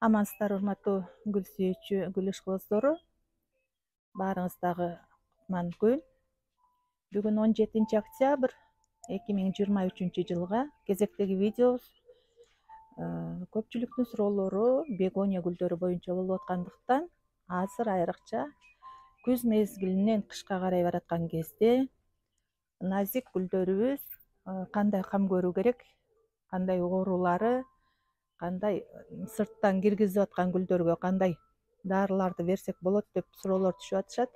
Амансыздар, урматтуу гүл сүйүүчү гүл ишкыбыздары. Баарыңыздагы кутман күн. Бүгүн 17 октябрь 2023 жылга кезектеги видеобуз көпчүлүктүн суроолору бегония гүлдөрү боюнча болуп аткандыктан азыр айрыкча күз мезгилинен кышка карай бараткан кезде назик гүлдөрүбүз кандай кам көрүү керек, кандай оорулары, кандай сырттан киргизип аткан гүлдөргө кандай дарыларды берсек болот деп суроолор түшүп атышат.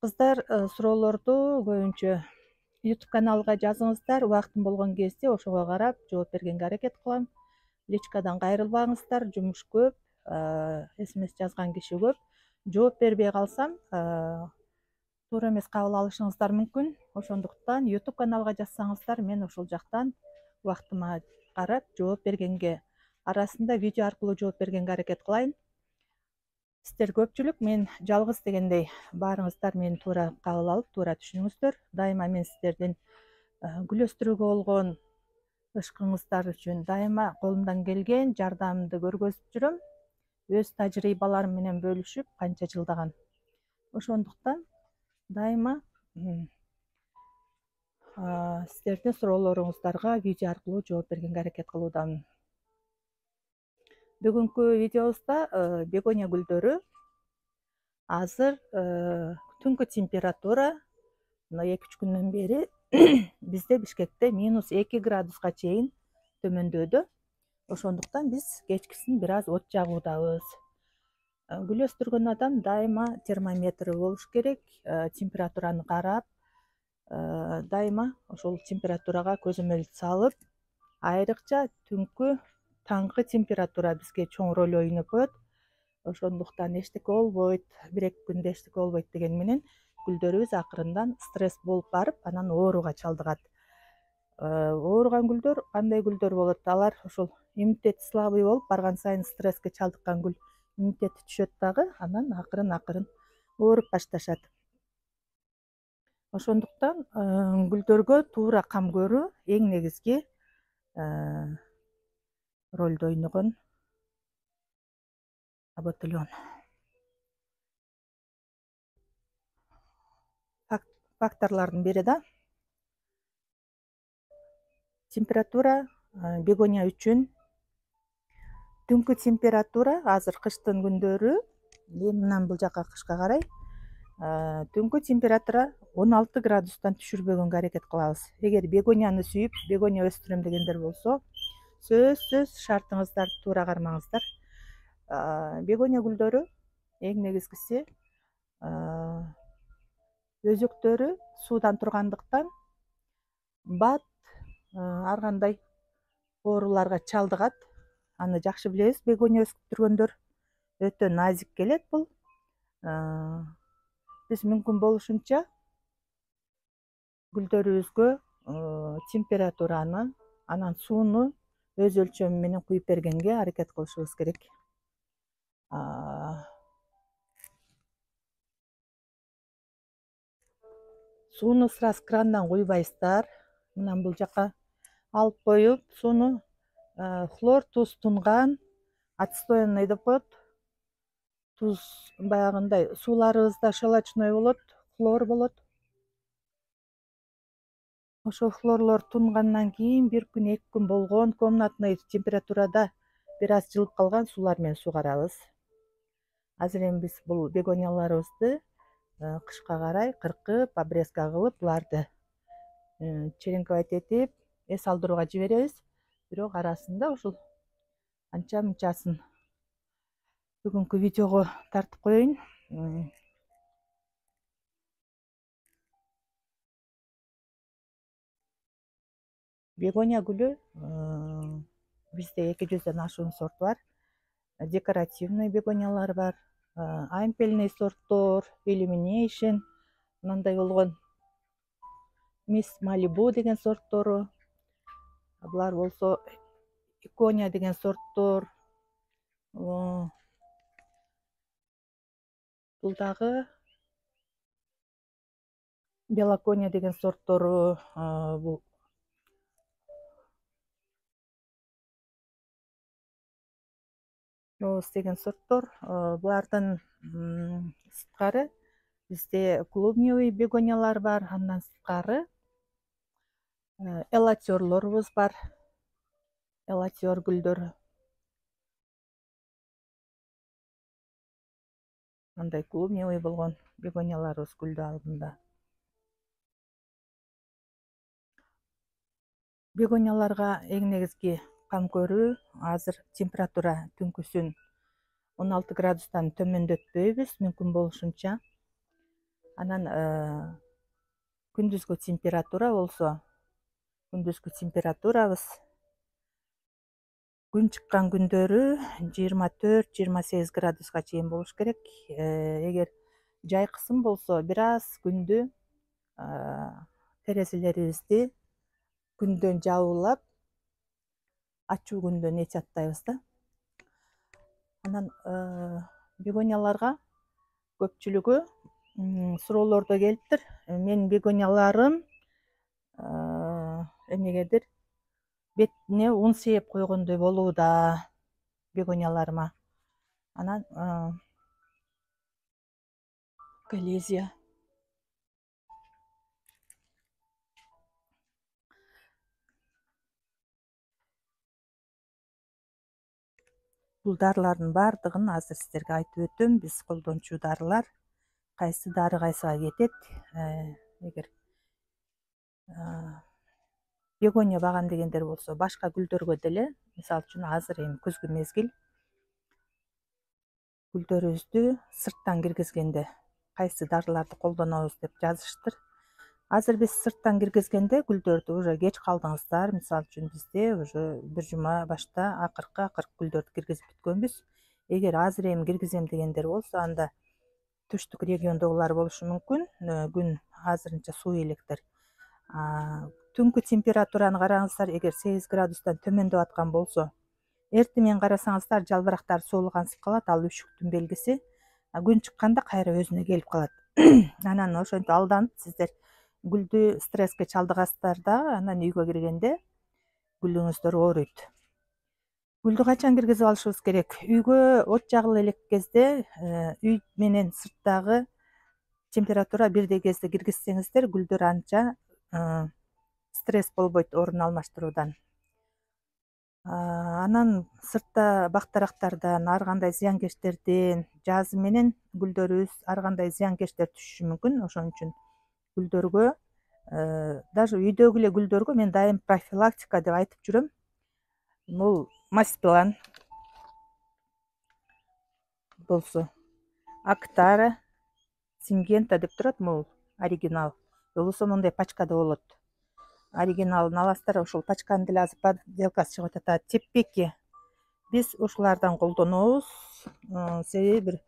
Кыздар, суроолорду көбүнчө YouTube каналга жазыңыздар. Убактым болгон кезде ошого карап жооп бергенге аракет кылам. Личкадан кайрылбаңыздар, жумуш көп, SMS жазган киши көп. Жооп бербей калсам, туура эмес кабыл алышыңыздар мүмкүн. Ошондуктан YouTube каналга жазсаңыздар, мен ошол жактан убактыма карап жооп бергенге, арасында видео аркылуу жооп бергенге аракет кылайын. Сиздер көпчүлүк мен жалгыз дегендей баарыңыздар мени туура кабыл алып, туура түшүнүңүздөр. Дайыма мен сиздердин гүл өстүрүүгө болгон ышкыңыздар үчүн дайыма колумдан келген жардамымды көргөзүп жүрөм. Өз тажрыйбаларым менен бөлүшүп канча жылдаган. Ошондуктан дайыма сиздердин суроолоруңуздарга видео аркылуу жооп бергенге аракет кылуудамын. Бүгүнкү видеобузда бегония гүлдөрү азыр түнкү температура 2-3 күндөн бери бизде Бишкекте -2 градуска чейин төмөндөдү. Ошондуктан биз кечкисин бир аз от жагуудабыз. Гүл өстүргөн адам дайыма термометри болуш керек, температураны карап, дайыма ошол температурага көзөмөл салып, айрыкча түнкү таңкы температура бизге чоң роль ойноп коет. Ошондуктан эчтеке болбойт, 1-2 күндө эчтеке болбойт деген менен гүлдөрүбүз акырындан стресс болуп барып, анан ооруга чалдыгат. Ооруган гүлдөр кандай гүлдөр болот? Алар ошол иммунитети слабый болуп, барган сайын стресске чалдыккан гүл иммунитети түшөт дагы, анан акырын ооруп башташат. Ошондуктан гүлдөргө туура кам көрүү эң негизги ролду ойногон батальон. Факторлордун бири да температура бегония үчүн түнкү температура азыр кыштын күндөрү, мындан бул жака кышка карай түнкү температура 16 градустан түшүрбөгөнгө аракет кылабыз. Эгер бегонияны сүйүп, бегония өстүрөм дегендер болсо, сөзсүз шартыңыздарды туура кармаңыздар. Бегония гүлдөрү эң негизгиси өзөктөрү суудан тургандыктан бат ар кандай ооруларга чалдыгат. Аны жакшы билебиз, бегония өстүргөндөр өтө назик келет бул. Биз мүмкүн болушунча гүлдөрүбүзгө температураны, анан сууну өз өлчөмү менен куюп бергенге аракет кылышыбыз керек. Сууну сразу крандан куйбайсыздар. Мындан бул жака алып коюп, сууну хлор, туз тунган, отстоянный деп коет. Туз баягындай сууларыбызда щелочной болот, хлор болот. Ошол хлорлор тунгандан кийин 1 күн, 2 күн болгон комнатный температурада бир аз жылып калган суулар менен сугарабыз. Азыр эми биз бул бегонияларыбызды кышка карай кыркып, обрезка кылып, буларды черенковать этип, эс алдырууга жиберебиз. Бирок арасында ушул анча мынчасын бүгүнкү видеого тартып коеюн. Бегония гүлү бизде 200дөн ашуун сорт бар. Декоративный бегониялар бар, ампельный сорттор, illumination, мындай болгон Miss Malibu деген сорттору. Булар болсо икония деген сорттор. Бул дагы белокония деген сорттору. Бул роуз деген сорттор. Булардан сырткары бизде клубневый бегониялар бар, андан сырткары элатерлорубуз бар. Элатер гүлдөр андай клубневый болгон бегонияларыбыз гүлдөө алдында. Бегонияларга эң негизги кам көрүү азыр температура түнкүсүн 16 градустан төмөндөтпөйбүз мүмкүн болушунча. Анан күндүзгү температура болсо, күндүзгү температурабыз күн чыккан күндөрү 24-28 градуска чейин болуш керек. Эгер жай кысым болсо бир аз күндү терезелерибизди күндөн жабуулап, ачуу күндөн эч аттайбыз да. Анан бегонияларга көпчүлүгү суроолордо келиптир. Менин бегонияларым эмнегедир бетине ун сээп койгондой болууда бегонияларыма. Анан коллизия бул дарылардын баардыгын азыр сиздерге айтып өтөм. Биз колдончу дарылар, кайсы дары кайсыга кетет. Эгер бегония багам дегендер болсо, башка гүлдөргө деле, мисалы үчүн азыр эми күзгү мезгил, гүлдөрүбүздү сырттан киргизгенде кайсы дарыларды колдонобуз деп жазыштыр. Азыр биз сырттан киргизгенде гүлдөрдү уже кеч калдыңыздар. Мисалы үчүн бизде уже бир жума башта акыркы гүлдөрдү киргизип бүткөнбүз. Эгер азыр эми киргизем дегендер болсо, анда түштүк региондогулар болушу мүмкүн. Күн азырынча суук электир. Түнкү температураны караңыздар. Эгер 8 градустан төмөндөп аткан болсо, эртең менен карасаңыздар жалбырактар суулгансып калат. Ал үшүктүн белгиси. Күн чыкканда кайра өзүнө келип калат. Анан ошентип алданып сиздер гүлдү стресске чалдыгасыздар да, анан үйгө киргенде гүлүңүздөр ооруйт. Гүлдү качан киргизип алышыбыз керек? Үйгө от жагыла элек кезде, үй менен сырттагы температура бирдей кезде киргизсеңиздер, гүлдөр анча стресс болбойт орун алмаштыруудан. Анан сыртта бактарактардан, ар кандай зыянкечтерден, жазы менен гүлдөрүбүз ар кандай зыянкечтер түшүшү мүмкүн. Ошон үчүн гүлдөргө, даже үйдөгү эле гүлдөргө мен дайым профилактика деп айтып жүрөм. Бул Маспилан болсо, Актара, Сингента деп турат, бул оригинал. Болбосо мондай пачкада болот. Оригиналын аласыздар, ошол пачканын деле азыр подделкасы чыгып атат. Теппеки биз ушулардан колдонобуз. Себеби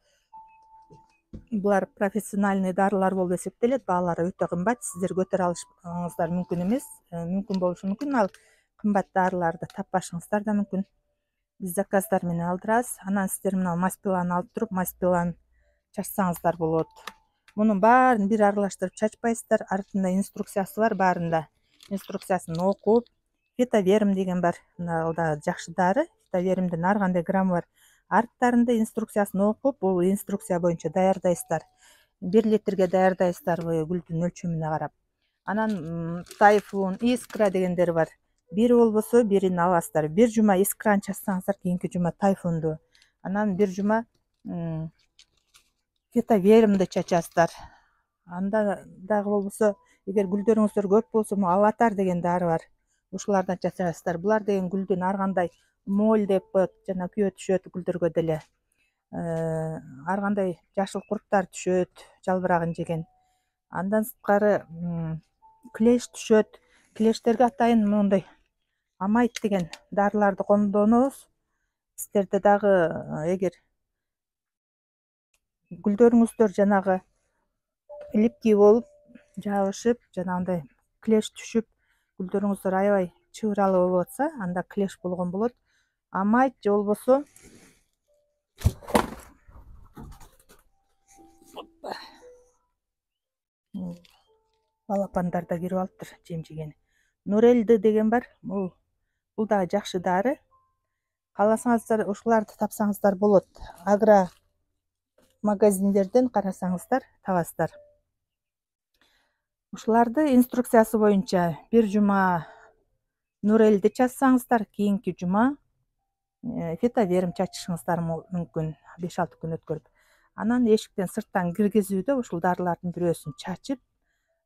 булар профессиональный дарылар болуп эсептелет. Баалары өтө кымбат. Сиздер көтөрө алышыңыздар мүмкүн эмес. Мүмкүн болушу мүмкүн ал кымбат дарыларды таппашыңыздар да мүмкүн. Биз заказдар менен алдырабыз. Анан сиздер мына Маспиланы алып туруп, Маспилан чачсаңыздар болот. Мунун баарын бир аралаштырып чачпайсыздар. Артында инструкциясы бар баарында. Инструкциясын окуп, Фитоверм деген бар. Ал да жакшы дары. Фитовермдин ар кандай граммы бар. Арттарында инструкциясын окуп, бул инструкция боюнча даярдайсыздар. 1 литрге даярдайсыздар гүлдүн өлчөмүнө карап. Анан Тайфун, Искра дегендер бар. Бири болбосо бирин аласыздар. Бир жума Искраны чачсаңыздар, кийинки жума Тайфунду. Анан бир жума Фитовермди чачасыздар. Анда дагы болбосо, эгер гүлдөрүңүздөр көп болсо, Аватар деген дары бар. Ушулардан чачасыздар. Булар деген гүлдүн ар кандай моль деп коет, жана күйө түшөт гүлдөргө деле. Ар кандай жашыл курттар түшөт, жалбырагын жеген. Андан сырткары клеш түшөт. Клештерге атайын моундай Амайт деген дарыларды колдонобуз. Сиздерде дагы эгер гүлдөрүңүздөр жанагы липкий болуп, жабышып, жанагындай клеш түшүп, гүлдөрүңүздөр аябай чыбыралуу болуп атса, анда клеш болгон болот. Амайт же болбосо балапандар да кирип алыптыр, жем жеген. Нурелди деген бар. Бул дагы жакшы дары. Кааласаңыздар ушуларды тапсаңыздар болот. Агро магазиндерден карасаңыздар табасыздар. Ушуларды инструкциясы боюнча бир жума нурелди чачсаңыздар, кийинки жума фитоверм чачышыңыздар мүмкүн 5-6 күн өткөрүп. Анан эшиктен сырттан киргизүүдө ушул дарылардын бирөөсүн чачып,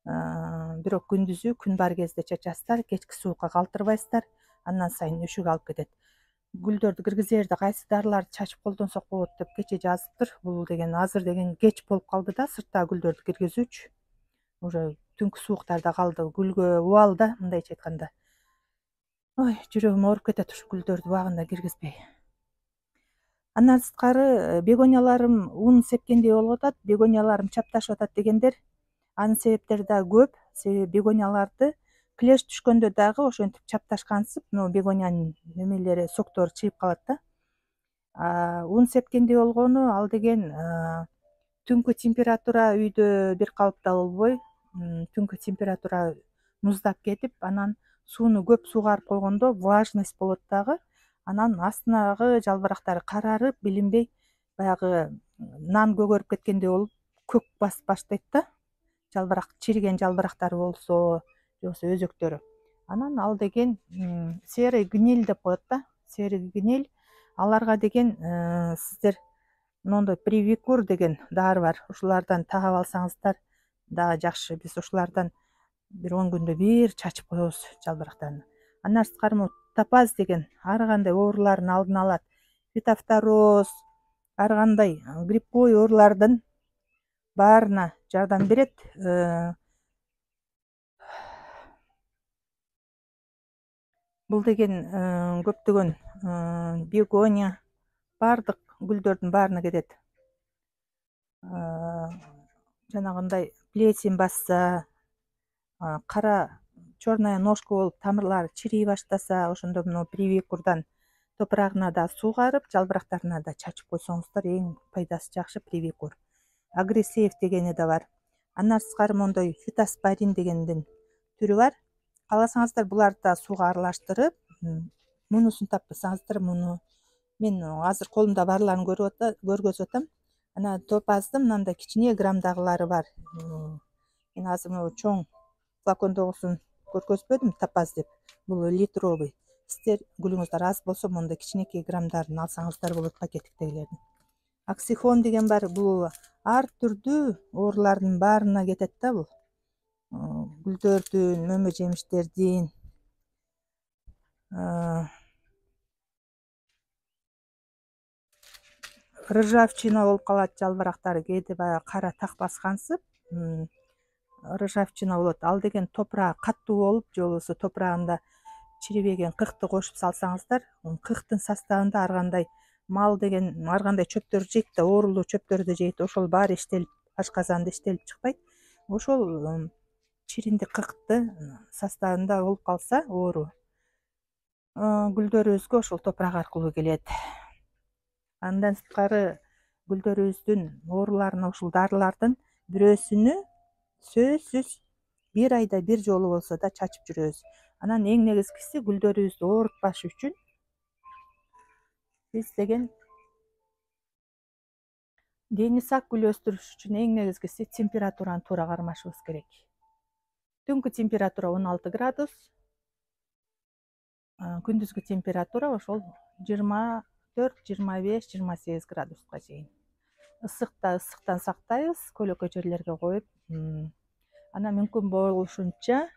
бирок күндүзү күн бар кезде чачасыздар, кечки суукка калтырбайсыздар. Андан сайын үшүк алып кетет. Гүлдөрдү киргизерде кайсы дарыларды чачып колдонсок болот деп кече жазыптыр. Бул деген азыр деген кеч болуп калды да, сырттагы гүлдөрдү киргизүүчү. Уже түнкү сууктарда калды, гүлгө убал да, мындайча айтканда. Ой, жүрөгүм ооруп кетет ушу гүлдөрдү убагында киргизбей. Андан сырткары бегонияларым ун сепкендей болуп атат, бегонияларым чапташып атат дегендер, анын себептери да көп. Себеби бегонияларды клеш түшкөндө дагы ошентип чапташкансып, могу бегониянын немелери, соктору чыйып калат да. Ун сепкендей болгону ал деген түнкү температура үйдө бир калыпта болбой, түнкү температура муздап кетип, анан сууну көп сугарып койгондо влажность болот дагы. Анан астынагы жалбырактары карарып, билинбей баягы нан көгөрүп кеткендей болуп, көк басып баштайт да. Жалбырак, чириген жалбырактары болсо, же болбосо өзөктөрү. Анан ал деген серый гниль деп коет да. Серый гниль. Аларга деген сиздер мондой привикур деген дары бар. Ушулардан тагып алсаңыздар дагы жакшы. Биз ушулардан бир 10 күндө бир чачып коебуз жалбырактарын. Андан сырткары топаз деген ар кандай оорулардын алдын алат. Фитофтороз, ар кандай грибковый оорулардын баарына жардам берет. Бул деген көптөгөн бегония, баардык гүлдөрдүн баарына кетет. Жанагындай плесень басса, кара черная ножка болуп тамырлары чирий баштаса, ошондо мына привикурдан топурагына да суугарып, жалбырактарына да чачып койсоңуздар эң пайдасы жакшы привикур. Агрессейв дегени да бар. Андан сырткары мондой фитоспорин дегендин түрү бар. Кааласаңыздар буларды да сууга аралаштырып, мунусун таппасаңыздар, муну мен азыр колумда барларын көргөзүп атам. Анан топаздын мындай кичине граммдагылары бар. Мен азыр могу чоң флакондогусун көргөзбөдүм, топаз деп. Бул литровый. Сиздер гүлүңүздөр аз болсо мондай кичинекей граммдарын алсаңыздар болот, пакеттиктердин. Оксихон деген бар. Бул ар түрдүү оорулардын баарына кетет да бул. Гүлдөрдүн, мөмө жемиштердин, ржавчина болуп калат жалбырактары, кээде баягы кара так баскансып, ржавчина болот. Ал деген топурагы каттуу болуп, же болбосо топурагында чирибеген кыкты кошуп салсаңыздар, кыктын составында ар кандай мал деген ар кандай чөптөр жейт да, оорулуу чөптөрдү жейт. Ошол баары иштелип, ашказанда иштелип чыкпайт. Ошол чириндик кыкты составында болуп калса оору, гүлдөрүбүзгө ошол топурак аркылуу келет. Андан сырткары гүлдөрүбүздүн ооруларына ушул дарылардын бирөөсүнү сөзсүз бир айда бир жолу болсо да чачып жүрөбүз. Анан эң негизгиси гүлдөрүбүздү оорутпаш үчүн биз деген дени сак гүл өстүрүш үчүн эң негизгиси температураны туура кармашыбыз керек. Түнкү температура 16 градус, күндүзгү температура ошол 24, 25, 28 градуска чейин. Ысыктан сактайбыз, көлөкө жерлерге коюп. Анан мүмкүн болушунча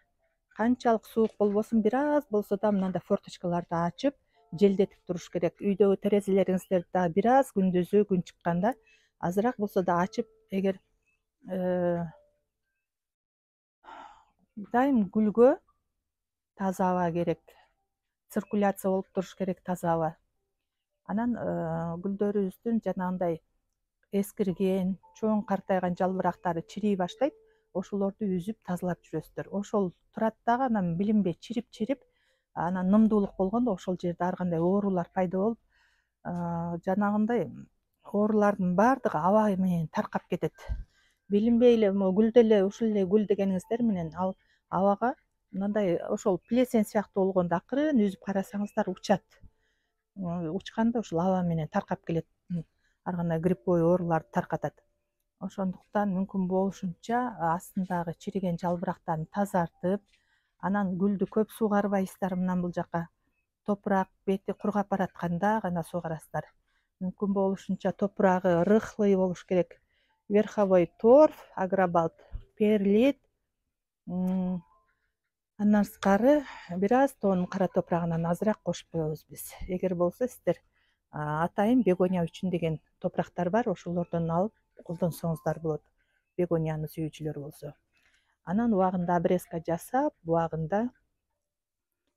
канчалык суук болбосун, бир аз болсо да мындай форточкаларды ачып, желдетип туруш керек. Үйдөгү терезелериңиздерди дагы бир аз күндүзү күн чыкканда азыраак болсо да ачып, эгер дайым гүлгө таза аба керек, циркуляция болуп туруш керек, таза аба. Анан гүлдөрүбүздүн жанагындай эскирген, чоң картайган жалбырактары чирий баштайт. Ошолорду үзүп тазалап жүрөсүздөр. Ошол турат дагы анан билинбей чирип, анан нымдуулук болгондо ошол жерде ар кандай оорулар пайда болуп, жанагындай оорулардын баардыгы аба менен таркап кетет. Билинбей эле могу гүл деле, ушул эле гүл дегениңиздер менен ал абага мындай ошол плесень сыяктуу болгондо акырын үзүп карасаңыздар учат. учканда ушул аба менен таркап келет, ар кандай гриппой ооруларды таркатат. Ошондуктан мүмкүн болушунча астындагы чириген жалбырактарын тазартып, анан гүлдү көп сугарбайсыздар. Мынан бул жака топурак бети кургап баратканда гана сугарасыздар. Мүмкүн болушунча топурагы рыхлый болуш керек. Верховой торф, агробалт, перлит, андан сырткары бир аз тоонун кара топурагынан азыраак кошуп коебуз биз. Эгер болсо сиздер атайын бегония үчүн деген топурактар бар, ошолордон алып колдонсоңуздар болот, бегонияны сүйүүчүлөр болсо. Анан убагында обрезка жасап, убагында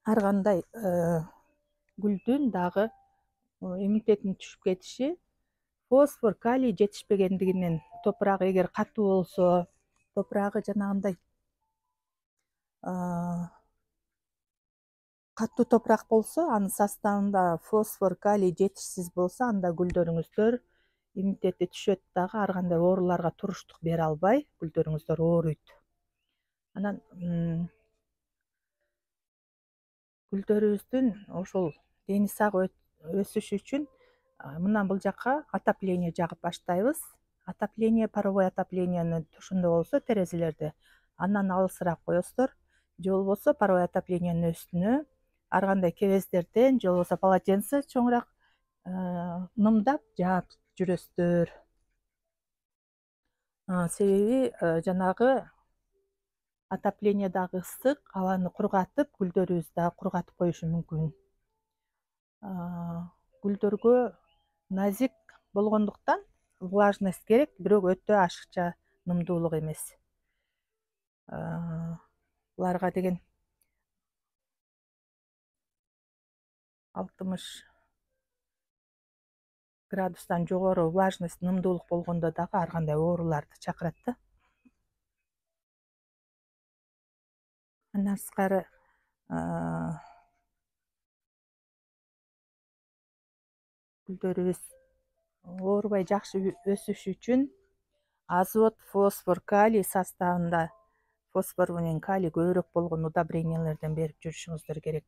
ар кандай гүлдүн дагы иммунитетинин түшүп кетиши, фосфор, калий жетишпегендигинен, топурагы эгер катуу болсо, топурагы жанагындай катуу топурак болсо, анын составында фосфор, калий жетишсиз болсо, анда гүлдөрүңүздөр иммунитети түшөт дагы, ар кандай ооруларга туруштук бере албай, гүлдөрүңүздөр ооруйт. Анан гүлдөрүбүздүн ошол дени сак өсүшү үчүн мындан бул жака отопление жагып баштайбыз. Отопление, паровой отоплениени ошондо болсо терезелерди андан алысыраак коесуздар, же болбосо паровой отоплениенин үстүнө ар кандай кебездерден, же болбосо полотенце чоңураак нымдап жаап жүрөсүздөр. Себеби жанагы отопление дагы ысык, абаны кургатып, гүлдөрүбүздү дагы кургатып коюшу мүмкүн. Гүлдөргө назик болгондуктан влажность керек, бирок өтө ашыкча нымдуулук эмес. Буларга деген 60 градустан жогору влажность, нымдуулук болгондо дагы ар кандай ооруларды чакырат да. Андан сырткары гүлдөрүбүз оорубай жакшы өсүш үчүн азот, фосфор, калий составында фосфор менен калий көбүрөөк болгон удобрениялерден берип жүрүшүңүздөр керек.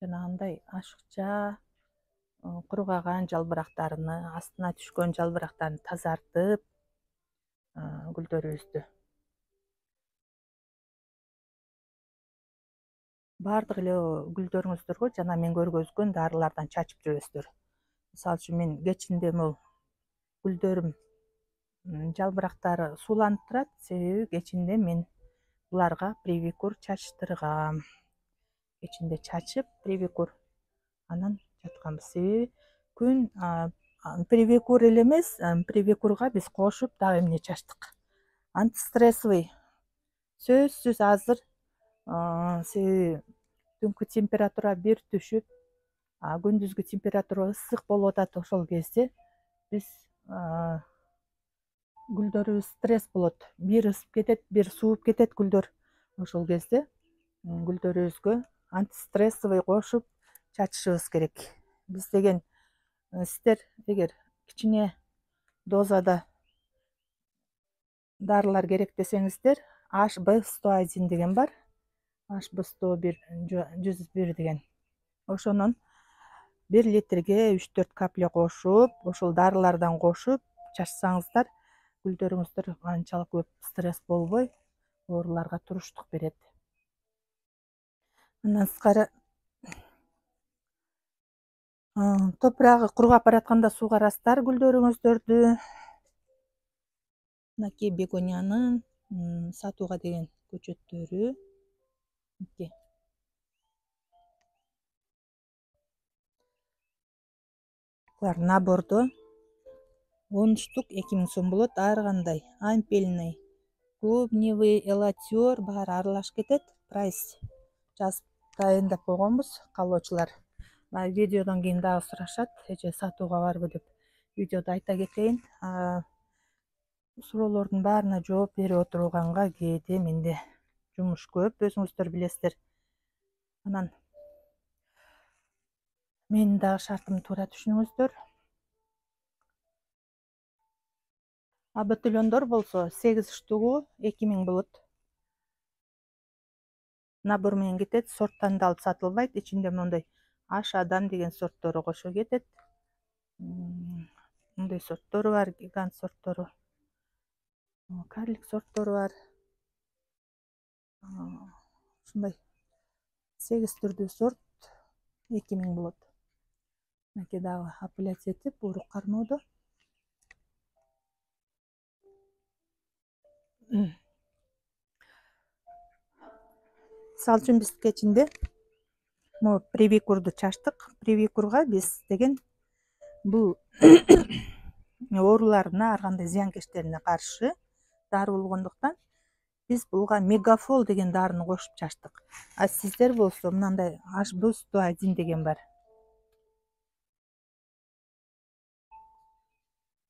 Жанагындай ашыкча кургаган жалбырактарыны, астына түшкөн жалбырактарын тазартып, гүлдөрүбүздү баардык эле гүлдөрүңүздөргө жана мен көргөзгөн дарылардан чачып жүрөсүздөр. Мисалы үчүн мен кечинде могул гүлдөрүм жалбырактары сууланып турат, себеби кечинде мен буларга привикур чачтыргам. Кечинде чачып, привикур анан жатканбыз. Себеби күн привикур эле эмес, привикурга биз кошуп дагы эмне чачтык. Антистрессовый сөзсүз азыр, себеби түнкү температура бир түшүп, күндүзгү температура ысык болуп атат. Ошол кезде биз гүлдөрүбүз стресс болот. Бир ысып кетет, бир сууп кетет гүлдөр. Ошол кезде гүлдөрүбүзгө антистрессовый кошуп чачышыбыз керек. Биз деген сиздер эгер кичине дозада дарылар керек десеңиздер, HB101 деген бар. HB101 101 деген. Ошонун 1 литрге 3-4 капля кошуп, ошол дарылардан кошуп чачсаңыздар, гүлдөрүңүздөр анчалык көп стресс болбой, ооруларга туруштук берет. Андан сырткары топурагы кургап баратканда суугарасыздар гүлдөрүңүздөрдү. Мынакей бегониянын сатууга деген көчөттөрү. Булар набордо 10 штук 2000 сом болот. Ар кандай ампельный, клубневый, элатер баары аралашып кетет. Прайс жазып дайындап койгонбуз, каалоочулар. Видеодон кийин дагы сурашат, эже сатууга барбы деп. Видеодо айта кетейин. Суроолордун баарына жооп берип отурганга кээде менде жумуш көп, өзүңүздөр билесиздер. Анан менин дагы шартымды туура түшүнүңүздөр. Ботильондор болсо 8 штугу 2000 болот. набор менен кетет, сорттандырылып сатылбайт. Ичинде мондай аш адам деген сорттору кошо кетет. Мындай сорттору бар, гигант сорттору, карлик сорттору бар. Ушундай 8 түрдүү сорт 2000 болот. Мынакей дагы апелляция этип, урук кармоодо. Мисалы үчүн биз кечинде могу привикурду чачтык. Привикурга биз деген бул ооруларына, ар кандай зыянкечтерине каршы дары болгондуктан биз буга мегафол деген дарыны кошуп чачтык. А сиздер болсо мындай HB101 деген бар.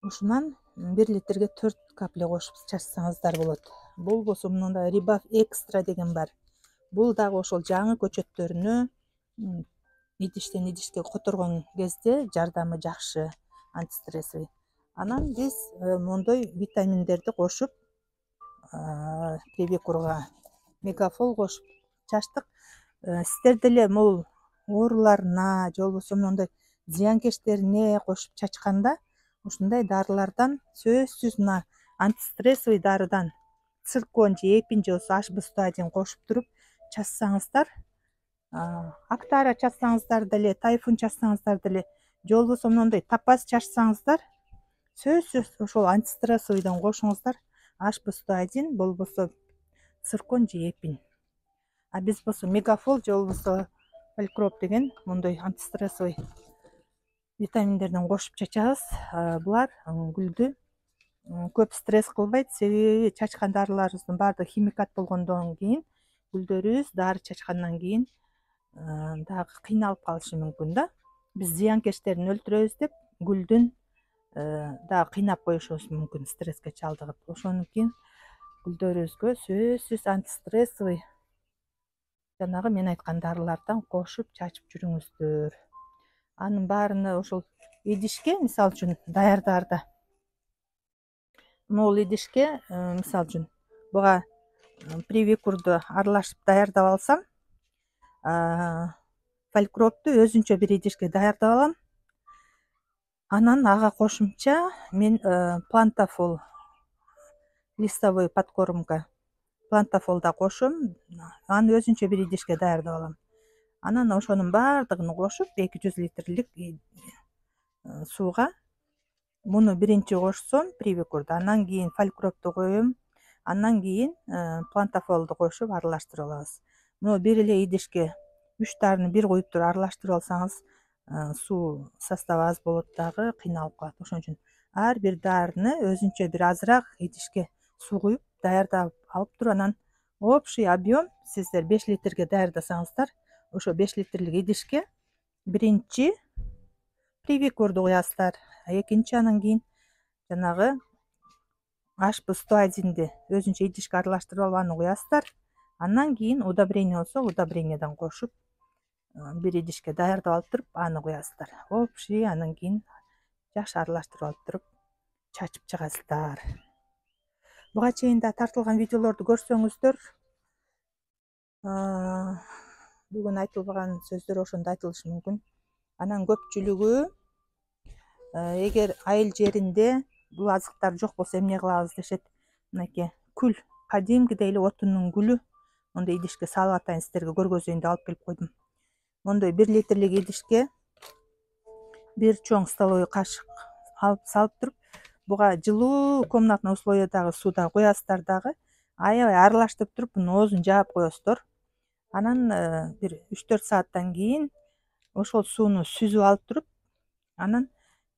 Ушунан 1 литрге 4 капля кошуп чачсаңыздар болот. Болбосо мындай Ribaf Extra деген бар. Бул дагы ошол жаңы көчөттөрүнө идиштен идишке которгон кезде жардамы жакшы, антистрессовый. Анан биз мондой витаминдерди кошуп привикурга мегафол кошуп чачтык. Сиздер деле могул ооруларына же болбосо мондой зыянкечтерине кошуп чачканда ушундай дарылардан сөзсүз мына антистрессовый дарыдан циркон же эпин же болбосо HB101 кошуп туруп чачсаңыздар, Актара чачсаңыздар деле, Тайфун чачсаңыздар деле, же болбосо мондой топаз чачсаңыздар, сөзсүз ошол антистрессовыйдан кошуңуздар. HB101 болбосо циркон же эпин. А биз болсо мегафол же болбосо фалькроп деген мондой антистрессовый витаминдерден кошуп чачабыз. Булар гүлдү көп стресс кылбайт, себеби чачкан дарыларыбыздын баардыгы химикат болгондон кийин гүлдөрүбүз дары чачкандан кийин дагы кыйналып калышы мүмкүн да. Биз зыянкечтерин өлтүрөбүз деп гүлдүн дагы кыйнап коюшубуз мүмкүн, стресске чалдыгып. Ошондон кийин гүлдөрүбүзгө сөзсүз антистрессовый жанагы мен айткан дарылардан кошуп чачып жүрүңүздөр. Анын баарыны ошол идишке, мисалы үчүн даярдаарда могул идишке, мисалы үчүн буга привикурду аралашып даярдап алсам, фалькропту өзүнчө бир идишке даярдап алам. Анан ага кошумча мен плантафол, листовой подкормка, плантафол да кошом. Аны өзүнчө бир идишке даярдап алам. Анан ошонун баардыгын кошуп 200 литрлик сууга муну биринчи кошсом привикурду, анан кийин фалькропту коем, андан кийин плантафолду кошуп аралаштырып алабыз. Муну бир эле идишке 3 дарыны бир куюп туруп аралаштырып алсаңыз, суу составы аз болот дагы, кыйналып калат. Ошон үчүн ар бир дарыны өзүнчө бир азыраак идишке суу куюп даярдап алып туруп, анан общий объем сиздер 5 литрге даярдасаңыздар, ошо 5 литрлик идишке биринчи привикурду куясыздар, экинчи анан кийин жанагы HB101ди өзүнчө идишке аралаштырып алып аны куясыздар. Андан кийин удобрение болсо удобрениеден кошуп бир идишке даярдап алып туруп аны куясыздар. Общий анан кийин жакшы аралаштырып алып туруп чачып чыгасыздар. Буга чейин да тартылган видеолорду көрсөңүздөр, бүгүн айтылбаган сөздөр ошондо айтылышы мүмкүн. Анан көпчүлүгү эгер айыл жеринде бул азыктар жок болсо эмне кылабыз дешет. Мынакей күл, кадимкидей эле отундун күлү мондой идишке салып атайын, сиздерге көргөзөйүн деп алып келип койдум. Мондой 1 литрлик идишке бир чоң столовый кашык алып салып туруп, буга жылуу комнатный условиядагы сууda куясыздар дагы, аябай аралаштырып туруп мунун оозун жаап коесуздар. Анан бир 3-4 сааттан кийин ошол сууну сүзүп алып туруп, анан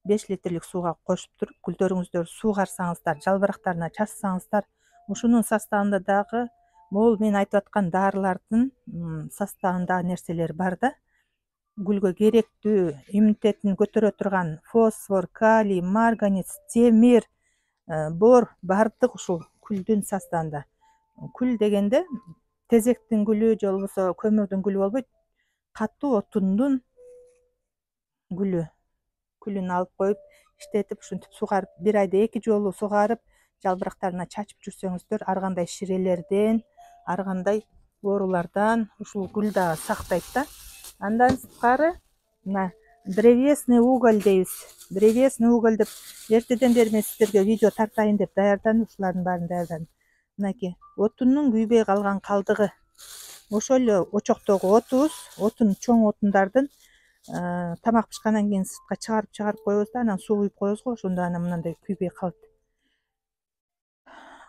5 литрлик сууга кошуп туруп, гүлдөрүңүздөрдү суугарсаңыздар, жалбырактарына чачсаңыздар, ушунун составында дагы могул мен айтып аткан дарылардын составындагы нерселер бар да. Гүлгө керектүү, иммунитетин көтөрө турган фосфор, калий, марганец, темир, бор бардык ушул күлдүн составында. Күл дегенде тезектин гүлү же болбосо көмүрдүн гүлү болбойт, катуу отундун гүлү. Күлүн алып коюп, иштетип, ушинтип сугарып, бир айда 2 жолу сугарып, жалбырактарына чачып жүрсөңүздөр, ар кандай ширелерден, ар кандай оорулардан ушул гүл дагы сактайт да. Андан сырткары мына древесный уголь дейбиз. Древесный уголь деп эртеден бери мен сиздерге видео тартайын деп даярдадым. Ушулардын баарын даярдадым. Мынакей отундун күйбөй калган калдыгы. Ошол эле очоктогу отубуз, отун чоң отундардын тамак пышкандан кийин сыртка чыгарып коебуз да, анан суу куюп коебуз го, ошондо анан мындай күйбөй калат.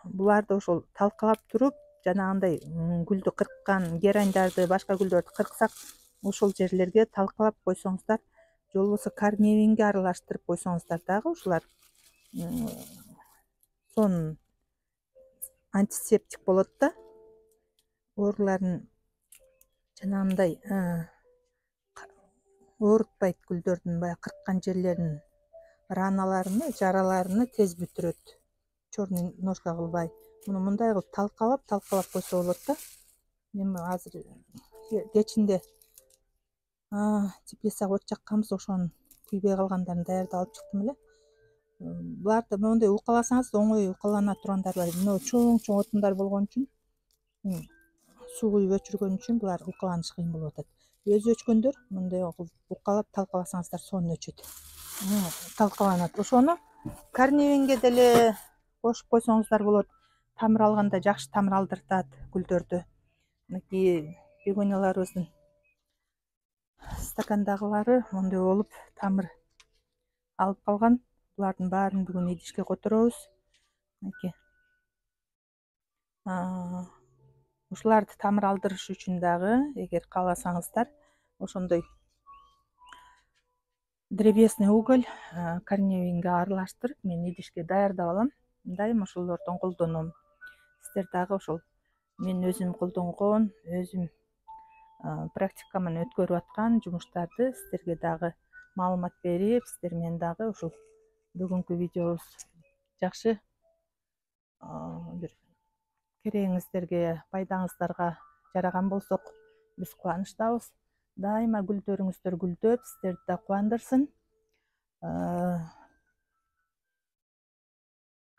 Буларды ошол талкалап туруп, жанагындай гүлдү кырккан герандарды, башка гүлдөрдү кырксак, ошол жерлерге талкалап койсоңуздар, же болбосо корневинге аралаштырып койсоңуздар дагы ушулар сонун антисептик болот да. Ооруларын жанагындай оорутпайт, гүлдөрдүн баягы кырккан жерлеринин раналарыны, жараларыны тез бүтүрөт. Чёрный ножка кылбай, муну мындай кылып талкалап койсо болот да. Мен азыр кечинде теплицага от жакканбыз, ошонун күйбөй калгандарын даярдап алып чыктым эле. Буларды моундай укаласаңыз оңой укалана тургандар бар. Мына чоң отундар болгон үчүн, суу куюп өчүргөн үчүн булар укаланыш кыйын болуп атат. Өзү өчкөндөр мындай кылып укалап талкаласаңыздар сонун өчөт. Талкаланат. Ошону корневинге деле кошуп койсоңуздар болот. Тамыр алганда жакшы тамыр алдыртат гүлдөрдү. Мынакей бегонияларыбыздын стакандагылары мондой болуп тамыр алып калган. Булардын баарын бүгүн идишке которобуз. Мынакей. Ушуларды тамыр алдырыш үчүн дагы, эгер кааласаңыздар, ошондой древесный уголь корневинге аралаштырып мен идишке даярдап алам. Дайыма ошолордон колдоном. Сиздер дагы ошол мен өзүм колдонгон, өзүм практикаман өткөрүп аткан жумуштарды сиздерге дагы маалымат берип, сиздер менен дагы ушул бүгүнкү видеобуз жакшы бир керегиңиздерге, пайдаңыздарга жараган болсок, биз кубанычтабыз. Дайыма гүлдөрүңүздөр гүлдөп, сиздерди да кубандырсын.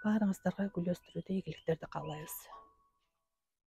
Баарыңыздарга гүл өстүрүүдө ийгиликтерди каалайбыз.